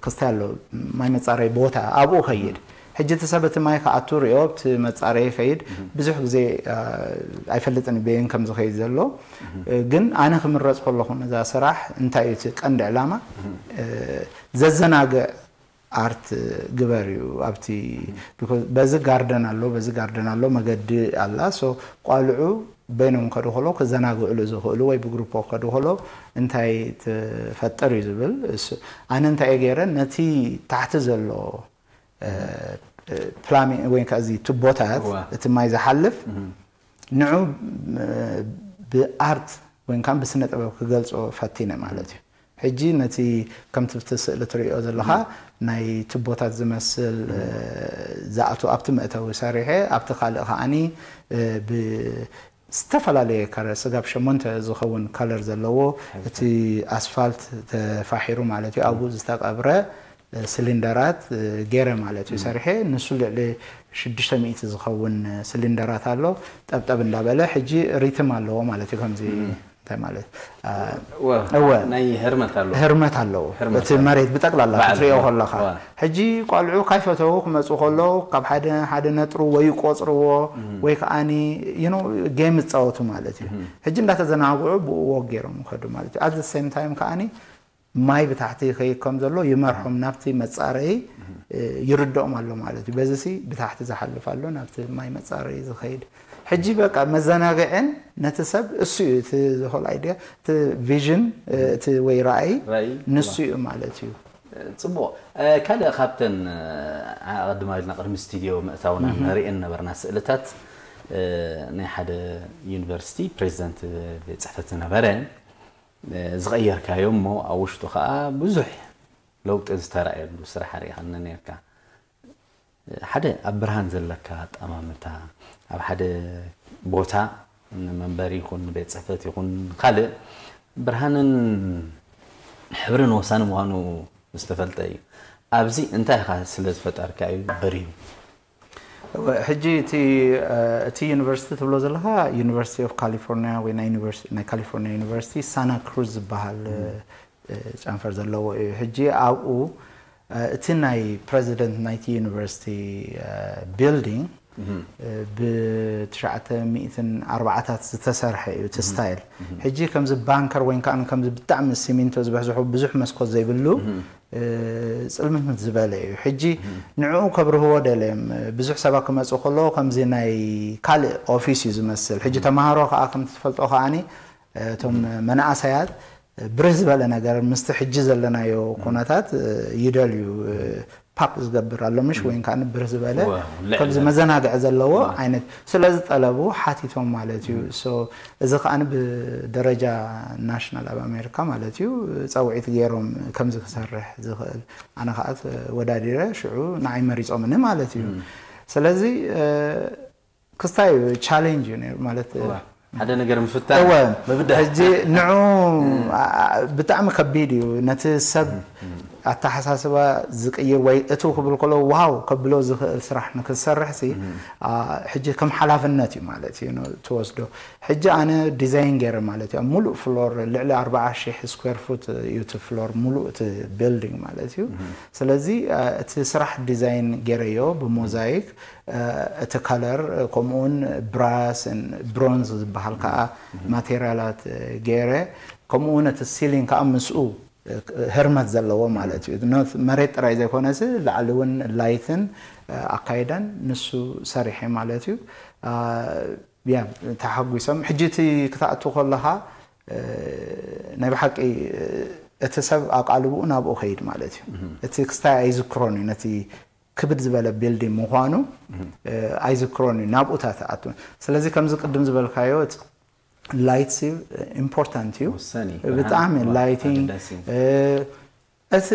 ክስታይ ኣሎ ማይ መፃረይ ቦታ ኣብኡ ከይድ። ሕጂ እቲ ሰብ እቲ ማይ ክኣቱ ሪኦ ኣብቲ መፃረይ ከይድ ብዙሕ ግዜ ኣይፈልጥን በየን ከም ዝኸይድ ዘሎ። ግን ኣነ ክምረፅ ከለኹ ነዛ ስራሕ እንታይ እዩ እቲ ቀንዲ ዕላማ ዘዘናግዕ ኣርት ግበር እዩ ኣብቲ በዚ ጋርደን ኣሎ በዚ ጋርደን ኣሎ መገዲ ኣላ። ሶ ቋልዑ በይኖም ከዱ ከሎ ክዘናግዕሉ ዝኽእሉ ወይ ብግሩፖ ከዱ ከሎ እንታይ ትፈጥር እዩ ዝብል። ኣነ እንታይ እየ ገይረ ነቲ ታሕቲ ዘሎ ፕላሚ ወይ ከዓ እዚ ቱቦታት እቲ ማይ ዝሓልፍ ንዑ ብኣርት ወይ ከዓ ብስነ ጥበብ ክገልፆ ፈቲነ ማለት እዩ። ሕጂ ነቲ ከምቲ ብቲ ስእሊ ትሪኦ ዘለኻ ናይ ቱቦታት ዝመስል ዝኣቱ ኣብቲ መእተዊ ሰሪሐ ኣብቲ ካልእ ከዓኒ ብዝተፈላለየ ከለር ስጋብ ሸሞንተ ዝኸውን ከለር ዘለዎ እቲ ኣስፋልት ተፋሒሩ ማለት እዩ ኣብኡ ዝተቀብረ ስሊንደራት ገይረ ማለት እዩ ሰሪሐ ንሱ ልዕሊ ሽዱሽተ ሚእቲ ዝኸውን ስሊንደራት ኣሎ ጠብጠብ እንዳበለ ሕጂ ሪትም ኣለዎ ማለት እዩ ከምዚ እንታይ ማለት እወ ናይ ህርመት ኣሎ ህርመት ኣለዎ እቲ መሬት ብጠቅላላ ክትሪኦ ከለካ ሕጂ ቆልዑ ካይፈተው ክመፁ ከለዉ ካብ ሓደ ሓደ ነጥሩ ወይ ቆፅርዎ ወይ ከዓኒ ጌም ይፃወቱ ማለት እዩ ሕጂ እንዳተዘናግዑ ብኡ ወግ ገይሮም ይኸዱ ማለት እዩ ኣት ሴም ታይም ከዓኒ ማይ ብታሕቲ ይኸይድ ከም ዘሎ ይመርሖም ናብቲ መፃረይ ይርድኦም ኣሎ ማለት እዩ በዚ ሲ ብታሕቲ ዝሓልፍ ኣሎ ናብቲ ማይ መፃረይ ዝኸይድ ሕጂ በቃ መዘናግዕን ነቲ ሰብ እሱ እዩ እቲ ዝኾል ኣይድያ እቲ ቪዥን እቲ ወይ ራእይ ንሱ እዩ ማለት እዩ ፅቡቕ ካልእ ካብተን ኣቐድማ ኢልና ቅድሚ ስቱድዮ ምእታውና ንሪእን ነበርና ስእልታት ናይ ሓደ ዩኒቨርሲቲ ፕሬዚደንት ቤት ፅሕፈት ዝነበረ ዝቐየርካዮ እሞ ኣብ ውሽጡ ከዓ ብዙሕ ለውጢ ዝተራእየሉ ስራሕ ርኢኻኒ ነርካ ሓደ ኣብ ብርሃን ዘለካ ኣጠማምታ ኣብ ሓደ ቦታ ንመንበሪ ይኹን ንቤት ፅሕፈት ይኹን ካልእ ብርሃንን ሕብርን ወሳኒ ምዃኑ ዝተፈልጠ እዩ ኣብዚ እንታይ ኢኻ ስለ ዝፈጠርካ እዩ በርዩ ሕጂ እቲ እቲ ዩኒቨርሲቲ ትብሎ ዘለካ ዩኒቨርሲቲ ኦፍ ካሊፎርኒያ ወይ ናይ ካሊፎርኒያ ዩኒቨርሲቲ ሳና ክሩዝ ዝበሃል ጨንፈር ዘለዎ እዩ ሕጂ ኣብኡ እቲ ናይ ፕረዚደንት ናይቲ ዩኒቨርሲቲ ቢልዲንግ ብትሽዓተ ሚእትን ኣርባዓታት ዝተሰርሐ እዩ እቲ ስታይል ሕጂ ከምዚ ባንከር ወይ ከዓ ከምዚ ብጣዕሚ ሲሚንቶ ዝበሕዝሑ ብዙሕ መስኮት ዘይብሉ ፅልምት ዝበለ እዩ ሕጂ ንዕኡ ከብርህዎ ደልዮም ብዙሕ ሰባት ክመፁ ከለዎ ከምዚ ናይ ካልእ ኦፊስ እዩ ዝመስል ሕጂ ተምሃሮ ከዓ ከምቲ ትፈልጦ ከዓኒ እቶም መናእሰያት ብርህ ዝበለ ነገር ምስቲ ሕጂ ዘለናዮ ኩነታት ይደልዩ ፓፕ ዝገብር ኣሎ ምሽ ወይን ከዓ ብርህ ዝበለ ከምዚ መዘናግዒ ዘለዎ ዓይነት ስለዚ ጠለቡ ሓቲቶም ማለት እዩ እዚ ከዓ ብደረጃ ናሽናል ኣብ ኣሜሪካ ማለት እዩ ፀውዒት ገይሮም ከምዚ ክሰርሕ ዝኽእል ኣነ ከዓ ወዳዲረ ሽዑ ንዓይ መሪፆምኒ ማለት እዩ ስለዚ ክስታይ እዩ ቻሌንጅ እዩ ነይሩ ማለት እወ ሓደ ነገር ምፍታን እወ ምብዳህ ሕጂ ንዑ ብጣዕሚ ከቢድ እዩ ነቲ ሰብ ኣተሓሳስባ ዝቅይር ወይ እቱ ክብል ከሎ ዋው ከብሎ ዝኽእል ስራሕ ንክትሰርሕ ሲ ሕጂ ከም ሓላፍነት እዩ ማለት እዩ ትወስዶ ሕጂ ኣነ ዲዛይን ገይረ ማለት እዩ ሙሉእ ፍሎር ልዕሊ ኣርባዓ ሺሕ ስኩዌር ፉት እዩ እቲ ፍሎር ሙሉእ እቲ ቢልዲንግ ማለት እዩ ስለዚ እቲ ስራሕ ዲዛይን ገይረዮ ብሞዛይክ እቲ ከለር ከምኡውን ብራስ ብሮንዝ ዝበሃል ከዓ ማቴሪያላት ገይረ ከምኡውን እቲ ሲሊንግ ከዓ ምስኡ ህርመት ዘለዎ ማለት እዩ መሬት ጥራይ ዘይኮነስ ላዕሊ እውን ላይትን ኣካይዳን ንሱ ሰሪሐ ማለት እዩ ያ ተሓጒሶም ሕጂ እቲ ክትኣቱ ከለካ ናይ ብሓቂ እቲ ሰብ ኣቓልብኡ ናብኡ ከይድ ማለት እዩ። እቲ ክስታይ ኣይዝክሮን እዩ፣ ነቲ ክብድ ዝበለ ቢልዲንግ ምዃኑ ኣይዝክሮን እዩ፣ ናብኡታት ኣት ስለዚ ከምዚ ቅድም ዝበልካዮ ላይት ኢምፖርታንት እዩ። ብጣዕሚ ላይቲንግ እቲ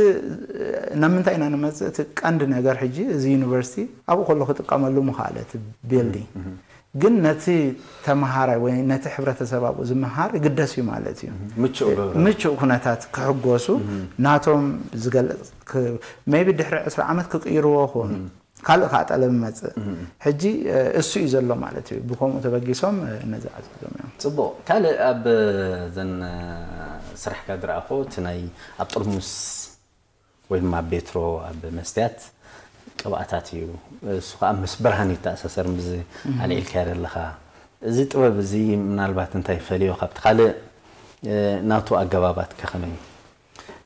ናብ ምንታይ ኢና ንመፅእ? እቲ ቀንዲ ነገር ሕጂ እዚ ዩኒቨርሲቲ ኣብኡ ከሎ ክጥቀመሉ ምኽኣለ እቲ ቢልዲንግ፣ ግን ነቲ ተምሃራይ ወይ ነቲ ሕብረተሰብ ኣብኡ ዝምሃር ይግደስ እዩ ማለት እዩ። ምቹእ ኩነታት ክሕጎሱ ናቶም ዝገልፅ ሜቢ ድሕሪ ዕስራ ዓመት ክቅይርዎ ክኾኑ ካልእ ከዓ ጠለብ ይመፅእ። ሕጂ እሱ እዩ ዘሎ ማለት እዩ። ብከምኡ ተበጊሶም ነዚ ዓዚዞም እዮም። ፅቡቕ። ካልእ ኣብ ዘን ስራሕካ ዝረኣኹ እቲ ናይ ኣብ ጥርሙስ ወይ ድማ ኣብ ቤትሮ ኣብ መስትያት ቅብኣታት እዩ። እሱ ከዓ ምስ ብርሃን ይተኣሳሰር። ምስ ኣልዒልካዮ ዘለኻ እዚ ጥበብ እዚ ምናልባት እንታይ ይፈልዮ ካብቲ ካልእ ናቱ ኣገባባት ከ ከመይ እዩ?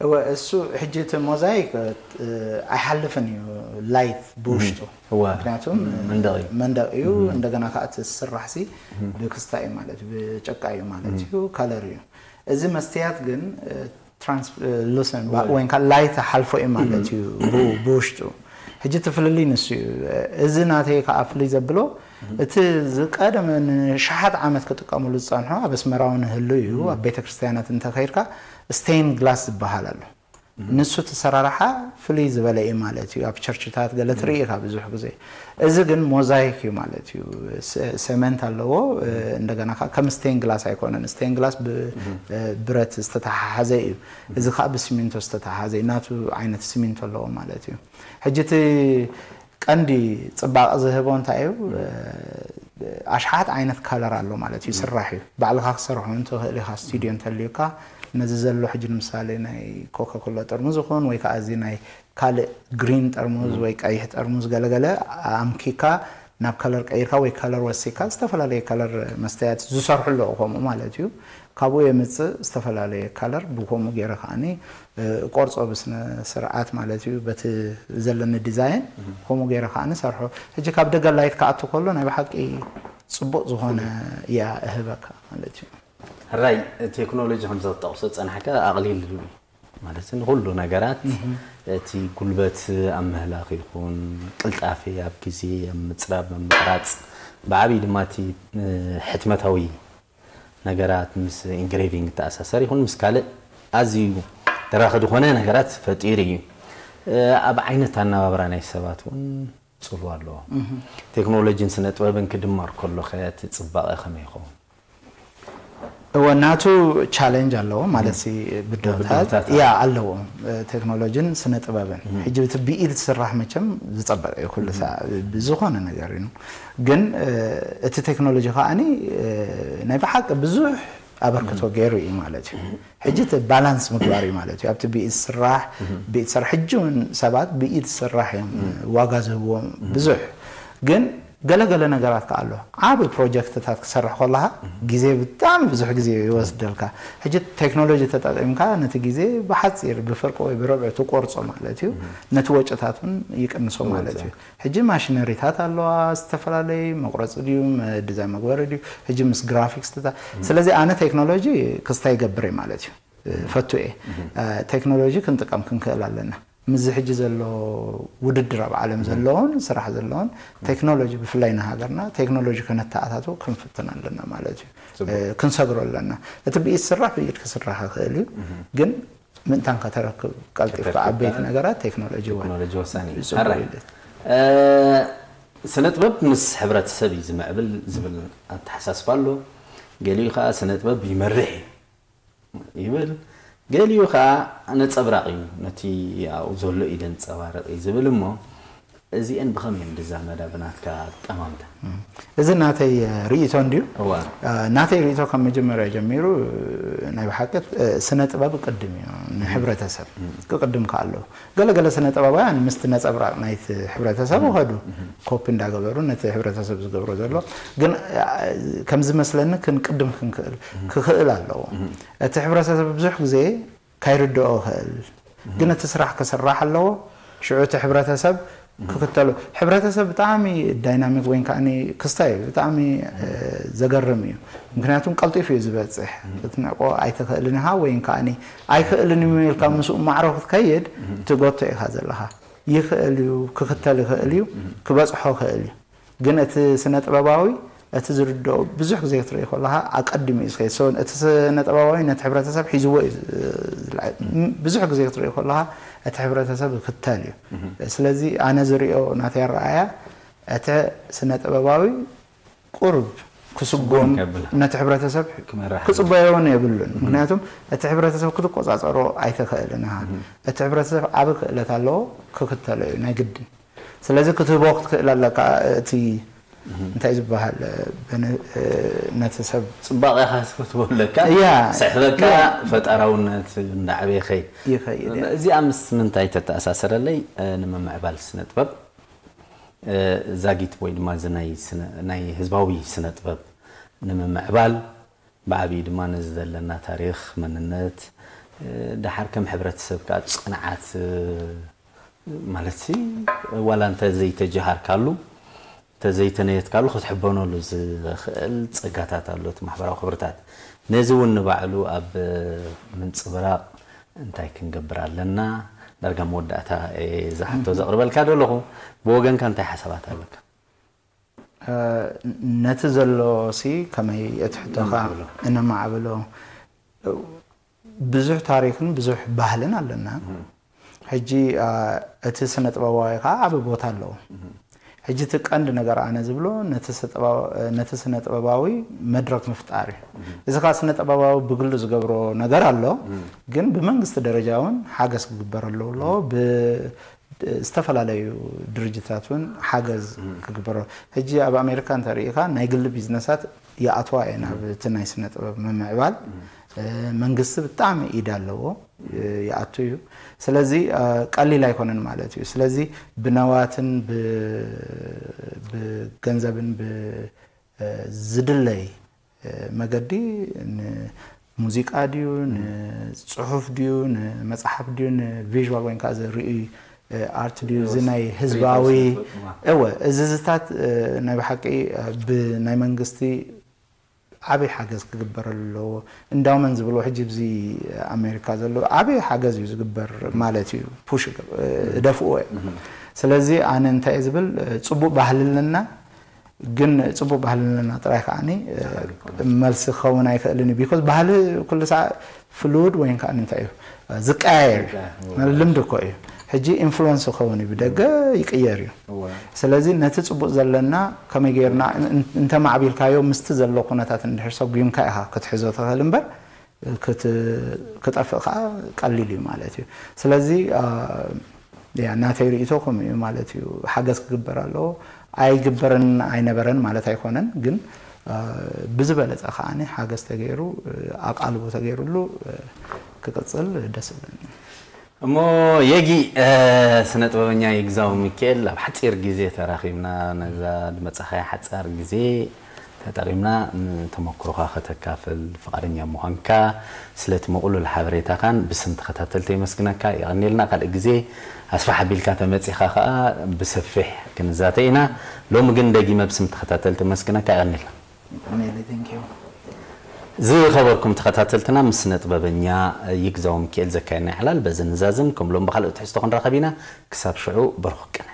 እወ እሱ ሕጂ እቲ ሞዛይክ ኣይሓልፍን እዩ ላይት ብውሽጡ ምክንያቱም መንደቕ እዩ። እንደገና ከዓ እቲ ስራሕ ሲ ብክስታ እዩ ማለት ብጨቃ እዩ ማለት እዩ፣ ከለር እዩ። እዚ መስትያት ግን ትራንስሉሰንት ወይ ከዓ ላይት ሓልፎ እዩ ማለት እዩ ብውሽጡ። ሕጂ እቲ ፍልልይ ንሱ እዩ። እዚ ናተይ ከዓ ፍልይ ዘብሎ እቲ ዝቀደመ ንሽሓት ዓመት ክጥቀምሉ ዝፀንሖ ኣብ ኣስመራ እውን ህሉ እዩ። ኣብ ቤተክርስትያናት እንተኸይድካ ስቴን ግላስ ዝበሃል ኣሎ። ንሱ እቲ ሰራርሓ ፍልይ ዝበለ እዩ ማለት እዩ። ኣብ ቸርችታት ገለ ትርኢ ኢኻ ብዙሕ ግዜ። እዚ ግን ሞዛይክ እዩ ማለት እዩ። ሰመንት ኣለዎ፣ እንደገና ከዓ ከም ስቴን ግላስ ኣይኮነን። ስቴን ግላስ ብብረት ዝተተሓሓዘ እዩ። እዚ ከዓ ብሲሚንቶ ዝተተሓሓዘ እዩ። ናቱ ዓይነት ሲሚንቶ ኣለዎ ማለት እዩ። ሕጂ እቲ ቀንዲ ፅባቐ ዝህቦ እንታይ እዩ? ኣሽሓት ዓይነት ካለር ኣሎ ማለት እዩ። ስራሕ እዩ። ባዕልኻ ክሰርሖ እንትኽእል ኢኻ። ስቱዲዮ እንተልዩካ ነዚ ዘሎ ሕጂ ንምሳሌ ናይ ኮካኮላ ጠርሙዝ ይኹን ወይ ከዓ እዚ ናይ ካልእ ግሪን ጠርሙዝ ወይ ቀይሕ ጠርሙዝ ገለገለ ኣምኪካ ናብ ከለር ቀይርካ ወይ ከለር ወሲካ ዝተፈላለየ ከለር መስተያት ዝሰርሑ ኣለዉ ከምኡ ማለት እዩ። ካብኡ የምፅእ ዝተፈላለየ ከለር ብከምኡ ገይረ ከዓኒ ቆርፆ ብስነ ስርዓት ማለት እዩ በቲ ዘለኒ ዲዛይን ከምኡ ገይረ ከዓኒ ሰርሖ። ሕጂ ካብ ደገ ላይት ክኣቱ ከሎ ናይ ብሓቂ ፅቡቕ ዝኾነ እያ እህበካ ማለት እዩ። ሕራይ ቴክኖሎጂ ከምዚ ክትጠቕሶ ዝፀናሕካ ኣቕሊል ማለት ንኩሉ ነገራት እቲ ጉልበት ኣብ ምህላኽ ይኹን ቅልጣፌ ኣብ ግዜ ኣብ ምፅራብ ኣብ ምቕራፅ ብዓብዪ ድማ እቲ ሕትመታዊ ነገራት ምስ ኢንግሬቪንግ ተኣሳሰር ይኹን ምስ ካልእ ኣዝዩ ተራኺ ዝኾነ ነገራት ፈጢሩ እዩ። ኣብ ዓይነት ኣነባብራ ናይ ሰባት እውን ፅልዋ ኣለዎ። ቴክኖሎጂን ስነ ጥበብን ክድመር ከሎ ከ እቲ ፅባቐ ከመይ ይኸውን? እወ ናቱ ቻለንጅ ኣለዎ ማለት ሲ ብድሆታት ብድሆታት ያ ኣለዎ። ኣለዎ። ቴክኖሎጂን ስነ ጥበብን ሕጂ እቲ ብኢድ ዝስራሕ መቸም ዝፀበቀ እዩ ኩሉ ሰዓት ብዝኾነ ነገር እዩ። ግን እቲ ቴክኖሎጂ ከዓኒ ናይ ብሓቂ ብዙሕ ኣበርክቶ ገይሩ እዩ ማለት እዩ። ሕጂ እቲ ባላንስ ምግባር እዩ ማለት እዩ። ኣብቲ ብኢድ ዝስራሕ ብኢድ ዝስራሕ ሕጂ እውን ሰባት ብኢድ ዝስራሕ እዮም ዋጋ ዝህብዎም ብዙሕ ግን ገለገለ ነገራት ከዓ ኣሎ። ዓብ ፕሮጀክትታት ክሰርሕ ከለካ ግዜ ብጣዕሚ ብዙሕ ግዜ ይወስደልካ። ሕጂ ቴክኖሎጂ ተጠቂምካ ነቲ ግዜ ብሓፂር ብፍርቂ ወይ ብርብዒ ትቆርፆ ማለት እዩ። ነቲ ወጭታት እውን ይቅንሶ ማለት እዩ። ሕጂ ማሽነሪታት ኣለዋ፣ ዝተፈላለዩ መቁረፂ ድዩ ዲዛይን መግበሪ ድዩ ሕጂ ምስ ግራፊክስ ተታ ስለዚ ኣነ ቴክኖሎጂ ክስታይ ይገብር እየ ማለት እዩ። ፈቱ እየ። ቴክኖሎጂ ክንጥቀም ክንክእል ኣለና። ምስዚ ሕጂ ዘሎ ውድድር ኣብ ዓለም ዘለውን ስራሕ ዘለውን ቴክኖሎጂ ብፍላይ ንሃገርና ቴክኖሎጂ ከነተኣታትው ክንፍትን ኣለና ማለት እዩ። ክንሰግሮ ኣለና። እቲ ብኢድ ስራሕ ብኢድ ክስራሕ ይኽእል እዩ፣ ግን ምእንታን ከተረክብ ቀልጢፍካ ዓበይቲ ነገራት ቴክኖሎጂ ወሳኒ እዩ። ስነ ጥበብ ምስ ሕብረተሰብ እዩ ዝምዕብል ዝብል ኣተሓሳስባ ኣሎ። ገሊኡ ከዓ ስነ ጥበብ ይመርሕ እዩ ይብል፣ ገሊኡ ከዓ ነፀብራቕ እዩ ነቲ ኣብኡ ዘሎ እዩ ዘንፀባርቕ እዩ ዝብል እሞ እዚአን ብኸመይ እየን ዝዛመዳ ብናትካ ኣጠማምታ? እዚ ናተይ ርእይቶ እንድዩ። ናተይ ርእይቶ ካብ መጀመርያ ጀሚሩ ናይ ብሓቂ ስነ ጥበብ ቅድም እዩ ንሕብረተሰብ ክቅድም ከኣለዎ ገለገለ ስነ ጥበባውያን ምስቲ ነፀብራቕ ናይቲ ሕብረተሰብ ይኸዱ ኮፒ እንዳገበሩ ነቲ ሕብረተሰብ ዝገብሮ ዘሎ ግን ከም ዝመስለኒ ክንቅድም ክንክእል ክኽእል ኣለዎ። እቲ ሕብረተሰብ ብዙሕ ግዜ ካይርድኦ ይኽእል ግን እቲ ስራሕ ክስራሕ ኣለዎ። ሽዑ እቲ ሕብረተሰብ ክክተሉ። ሕብረተሰብ ብጣዕሚ ዳይናሚክ ወይን ከዓኒ ክስታይ እዩ፣ ብጣዕሚ እ፣ ዘገርም እዩ። ምክንያቱም ቀልጢፉ እዩ ዝበፅሕ። ክትንዕቆ ኣይትኽእልን ኢኻ ወይን ከዓኒ ኣይክእልን እዩ ኢልካ ምስኡ ማዕሮ ክትከይድ ትጎቶ ኢኻ ዘለኻ። ይኽእል እዩ፣ ክክተል ይኽእል እዩ፣ ክበፅሖ ይኽእል እዩ። ግን እቲ ስነ ጥበባዊ እቲ ዝርድኦ ብዙሕ ግዜ ክትርኢ ከለኻ ኣቀዲሙ እዩ ዝኸይድ። So እቲ ስነ ጥበባዊ ነቲ ሕብረተሰብ ሒዝዎ እዩ ዝ- ዝልዓል። ም- ብዙሕ ግዜ ክትርኢ ከለኻ እቲ ሕብረተሰብ ይክተል እዩ። ስለዚ ኣነ ዝሪኦ ናተይ ኣረኣያ እቲ ስነ ጥበባዊ ቁሩብ ክስጎም ከብላ። ነቲ ሕብረተሰብ ክመራሕ ክጽበዮ እውን የብሉን። ምክንያቱም እቲ ሕብረተሰብ ክትቆጻጸሮ ኣይትኽእልን ኢኻ። እቲ ሕብረተሰብ ዓቢ ክእለት ኣለዎ፣ ክክተሎ እዩ ናይ ግድን። ስለዚ ክትህቦ ክትክእል ኣለካ። እቲ እንታይ ዝበሃል በነ- ነቲ ሰብ ጽባቐኻ ክትህቦ ኣለካ። እያ። ስሕበካ እያ። ፈጣራውነት እንዳዕበየ ኸይ ይኸይድ እያ። እዚኣ ምስ ምንታይ ተተኣሳሰረለይ? እ፣ ንምምዕባል ስነ ጥበብ እ፣ ዛጊት ወይ ድማ እዚ ናይ ስነ- ናይ ህዝባዊ ስነ ጥበብ ንምምዕባል ብዓብዪ ድማ ነዚ ዘለና ታሪኽ መንነት እ፣ ደሓር ከም ሕብረተሰብ ከዓ ጽንዓት እ፣ ማለት ሲ ዋላ እንተ ዘይተጀሃርካሉ እንተ ዘይተነየትካሉ ክትሕበነሉ ዝኽእል ጸጋታት ኣሎ እቲ ማሕበራዊ ክብርታት። ነዚ እውን ንባዕሉ ኣብ ምንጽብራቕ እንታይ ክንገብር ኣለና? ዳርጋ መወዳእታ እየ እዛ ሕቶ ዘቕርበልካ ዘለኹ። ብወገንካ እንታይ ሓሳባት ኣለካ? ነቲ ዘሎ ሲ ከመይ እቲ ሕቶኻ እነማዕብሎ። እነማዕብሎ። ብዙሕ ታሪኽን ብዙሕ ባህልን ኣለና። ሕጂ አ፣ እቲ ስነ ጥበባዊ ከዓ ዓቢ ቦታ ኣለዎ። ሕጂ እቲ ቀንዲ ነገር ኣነ ዝብሎ ነቲ ስነ ጥበባ- ነቲ ስነ ጥበባዊ መድረክ ምፍጣር እዩ። እዚ ከዓ ስነ ጥበባዊ ብግሉ ዝገብሮ ነገር ኣሎ፣ ግን ብመንግስቲ ደረጃ እውን ሓገዝ ክግበረሉ ኣለዎ። ብ- ዝተፈላለዩ ድርጅታት እውን ሓገዝ ክግበሮ። ሕጂ ኣብ ኣሜሪካ እንተሪኢኻ ናይ ግሊ ቢዝነሳት ይኣትዋ እየን ኣብ እቲ ናይ ስነ ጥበብ ምምዕባል። እ፣ መንግስቲ ብጣዕሚ ኢድ ኣለዎ፣ እ፣ ይኣቱ እዩ። ስለዚ እ፣ ቀሊል ኣይኮነን ማለት እዩ። ስለዚ ብነዋትን ብ- ብገንዘብን ብ- እ፣ ዝድለይ እ፣ መገዲ ንሙዚቃ ድዩ ንፅሑፍ ድዩ ንመፅሓፍ ድዩ ንቪዥዋል ወይ ከዓ ርእይ ኣርት ድዩ እዚ ናይ ህዝባዊ እወ እዝዝታት ናይ ብሓቂ ብናይ መንግስቲ ዓበይ ሓገዝ ክግበረሉ ኣለዎ። እንዳውመን ዝብሎ ሕጂ ብዚ ኣሜሪካ ዘሎ ዓበይ ሓገዝ እዩ ዝግበር ማለት እዩ። ፑሽ እደፍዎ እየ። ስለዚ ኣነ እንታይ እየ ዝብል ፅቡቅ ባህሊ ኣለና። ግን ፅቡቅ ባህልንና ጥራይ ከዓኒ መልሲ ክኸውን ኣይክእልን እዩ። ቢኮዝ ባህሊ ኩሉ ሰዓ ፍሉድ ወይን ከዓኒ እንታይ እዩ ዝቀያየር እዩ። ልምዲ እኮ እዩ። ሕጂ ኢንፍሉወንስ ክኸውን እዩ ብደገ ይቅየር እዩ። ስለዚ ነቲ ፅቡቅ ዘለና ከመይ ገይርና እንተማዕቢልካዮ ምስቲ ዘሎ ኩነታት እንድሕር ሰጉምካ ኢኻ ክትሕዞ ትኽእል እምበር ክጠፍእ ከዓ ቀሊል እዩ ማለት እዩ። ስለዚ ያ ናተይ ርእይቶ ከምኡ እዩ ማለት እዩ። ሓገዝ ክግበር ኣለዎ። ኣይግበርን ኣይነበረን ማለት ኣይኮነን፣ ግን ብዝበለፀ ከዓኒ ሓገዝ ተገይሩ ኣቃልቦ ተገይሩሉ ክቅፅል ደስ ይብለኒ። እሞ የጊ ስነ ጥበበኛ ይግዛው ሚካኤል ኣብ ሓፂር ግዜ ተራኺብና ነዛ ዝመፃኻያ ሓፃር ግዜ ተጠቒምና ንተመክሮኻ ከተካፍል ፍቓደኛ ምዃንካ ስለቲ ምቕሉል ሓበሬታኻን ብስም ተኸታተልቲ የመስግነካ። የቐንየልና። ካልእ ግዜ ኣስፍሕ ኣቢልካ ተመፂኻ ኸዓ ብሰፊሕ ክንዛተ ኢና። ሎሚ ግን ደጊመ ብስም ተኸታተልቲ የመስግነካ። የቐንየልና። ዝኸበርኩም ተኸታተልትና ምስ ስነ ጥበበኛ ይግዛው ሚካኤል ዘካየድና ዕላል በዚ ንዛዝም። ከም ሎም ብኻልእ ትሕዝቶ ክንራኸብ ኢና። ክሳብ ሽዑ በርኹ ቅነ።